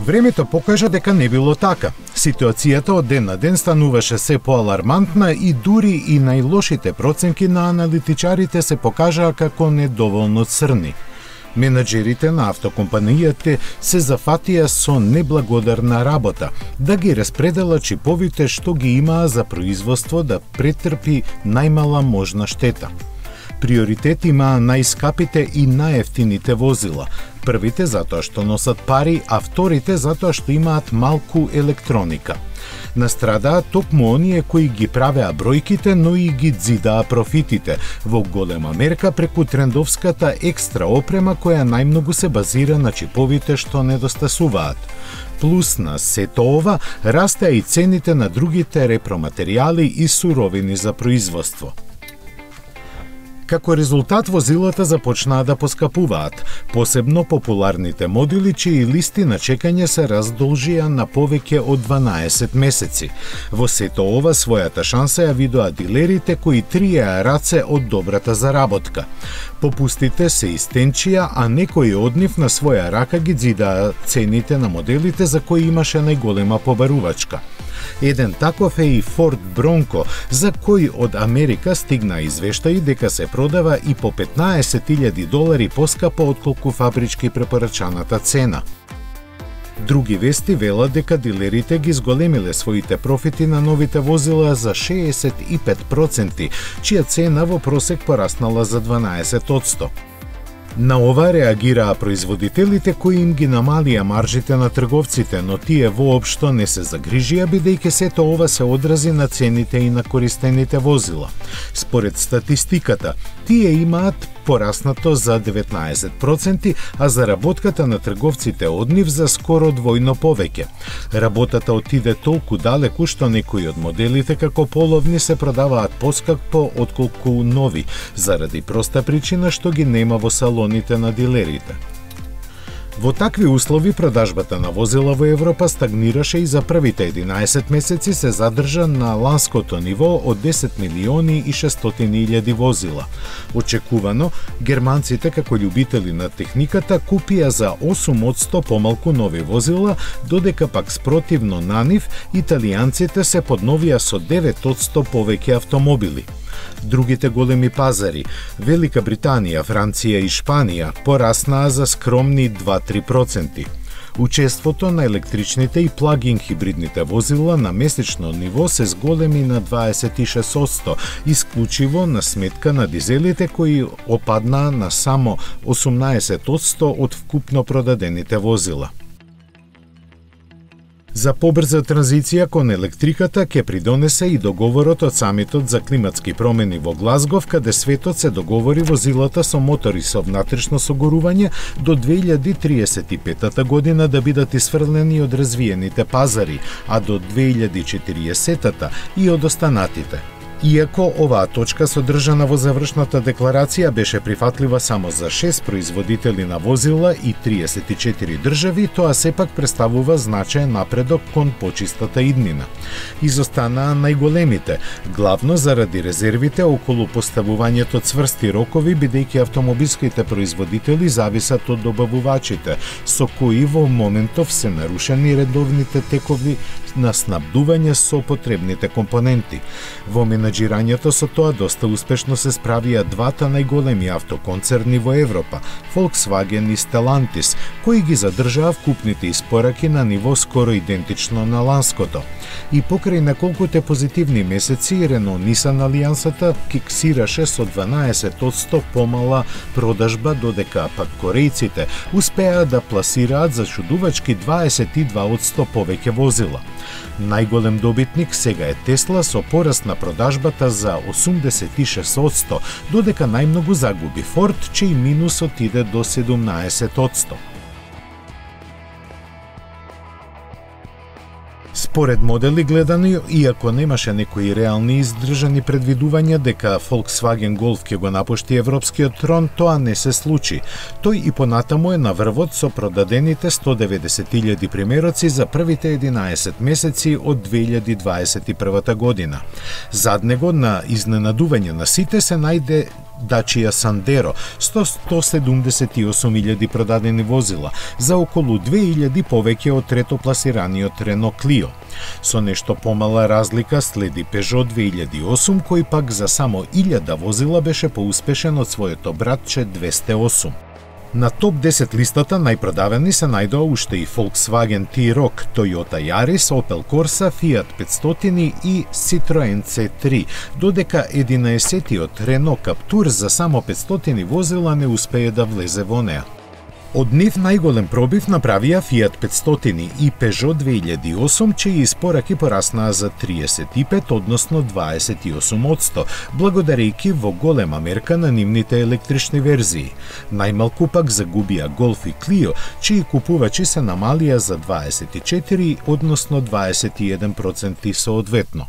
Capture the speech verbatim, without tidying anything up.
Времето покажа дека не било така. Ситуацијата од ден на ден стануваше се поалармантна и дури и најлошите проценки на аналитичарите се покажаа како недоволно црни. Менаџерите на автокомпанијата се зафатија со неблагодарна работа, да ги распределат чиповите што ги имаа за производство да претрпи најмала можна штета. Приоритет имаа најскапите и најефтините возила. Првите затоа што носат пари, а вторите затоа што имаат малку електроника. Настрадаа токму оние кои ги правеа бројките, но и ги дзидаа профитите, во голема мерка преку трендовската екстра опрема која најмногу се базира на чиповите што недостасуваат. Плюс на сето ова, растеа и цените на другите репроматеријали и суровини за производство. Како резултат, возилата започнаа да поскапуваат, посебно популарните модели чии листи на чекање се раздолжија на повеќе од дванаесет месеци. Во сето ова својата шанса ја видоа дилерите кои триеа раце од добрата заработка. Попустите се истенчија, а некои од нив на своја рака ги дзидаа цените на моделите за кои имаше најголема побарувачка. Еден таков е и Ford Bronco, за кој од Америка стигна извештаи дека се продава и по петнаесет илјади долари поскапо отколку фабрички препорачаната цена. Други вести велат дека дилерите ги зголемиле своите профити на новите возила за шеесет и пет проценти, чија цена во просек пораснала за дванаесет одсто. На ова реагираа производителите кои им ги намалија маржите на трговците, но тие воопшто не се загрижија бидејќи сето ова се одрази на цените и на користените возила. Според статистиката, тие имаат пораснато за деветнаесет проценти, а заработката на трговците од нив за скоро двојно повеќе. Работата отиде толку далеку што некои од моделите како половни се продаваат поскапо отколку нови, заради проста причина што ги нема во салоните на дилерите. Во такви услови продажбата на возила во Европа стагнираше и за првите единаесет месеци се задржа на ланското ниво од десет милиони и шестстотини илјади возила. Очекувано, германците како љубители на техниката купија за осум одсто помалку нови возила, додека пак спротивно на нив, италијанците се подновија со девет одсто повеќе автомобили. Другите големи пазари, Велика Британија, Франција и Шпанија, пораснаа за скромни два до три проценти. Учеството на електричните и плагин хибридните возила на месечно ниво се зголеми на дваесет и шест одсто, исклучиво на сметка на дизелите кои опаднаа на само осумнаесет одсто од вкупно продадените возила. За побрза транзиција кон електриката ќе придонесе и договорот од самитот за климатски промени во Глазгов, каде светот се договори возилата со мотори со внатрешно согорување до две илјади триесет и петта година да бидат исфрлени од развиените пазари, а до две илјади четириесетта и од останатите. Иако оваа точка содржана во завршната декларација беше прифатлива само за шест производители на возила и триесет и четири држави, тоа сепак представува значаен напредок кон почистата иднина. Изостанаа најголемите, главно заради резервите околу поставувањето цврсти рокови, бидејќи автомобилските производители зависат од добавувачите, со кои во моментов се нарушени редовните текови на снабдување со потребните компоненти. Во менаџирањето со тоа доста успешно се справија двата најголеми автоконцерни во Европа, Volkswagen и Stellantis, кои ги задржаа вкупните испораки на ниво скоро идентично на ланското. И покрај неколкуте позитивни месеци, Renault-Nissan алијансата киксираше со дванаесет одсто помала продажба, додека пак корејците успеа да пласираат за чудувачки дваесет и два одсто повеќе возила. Најголем добитник сега е Тесла со пораст на продажбата за осумдесет и шест одсто, додека најмногу загуби Форд, чиј минус отиде до седумнаесет одсто. Според модели гледано, иако немаше некои реални издржани предвидувања дека Volkswagen Golf ќе го напушти европскиот трон, тоа не се случи. Тој и понатаму е на врвот со продадените сто деветдесет илјади примероци за првите единаесет месеци од две илјади дваесет и прва година. Зад него на изненадување на сите се најде Dacia Sandero, сто сто седумдесет и осум илјади продадени возила, за околу две илјади повеќе од третопласираниот Renault Clio. Со нешто помала разлика следи Peugeot две илјади и осум, кој пак за само илјада возила беше поуспешен од своето братче двесте и осум. На топ десет листата најпродавани се најдоа уште и Volkswagen T-Roc, Toyota Yaris, Opel Corsa, Fiat петстотини и Citroen C три, додека единаесеттиот Renault Captur за само петстотини возила не успее да влезе во неа. Од нив најголем пробив направија Fiat петстотини и Peugeot две илјади и осум, чии испораки пораснаа за триесет и пет, односно дваесет и осум одсто, благодарејќи во голема мерка на нивните електрични верзии. Најмалку пак загубија Golf и Clio, чии купувачи се намалија за дваесет и четири, односно дваесет и еден проценти соодветно.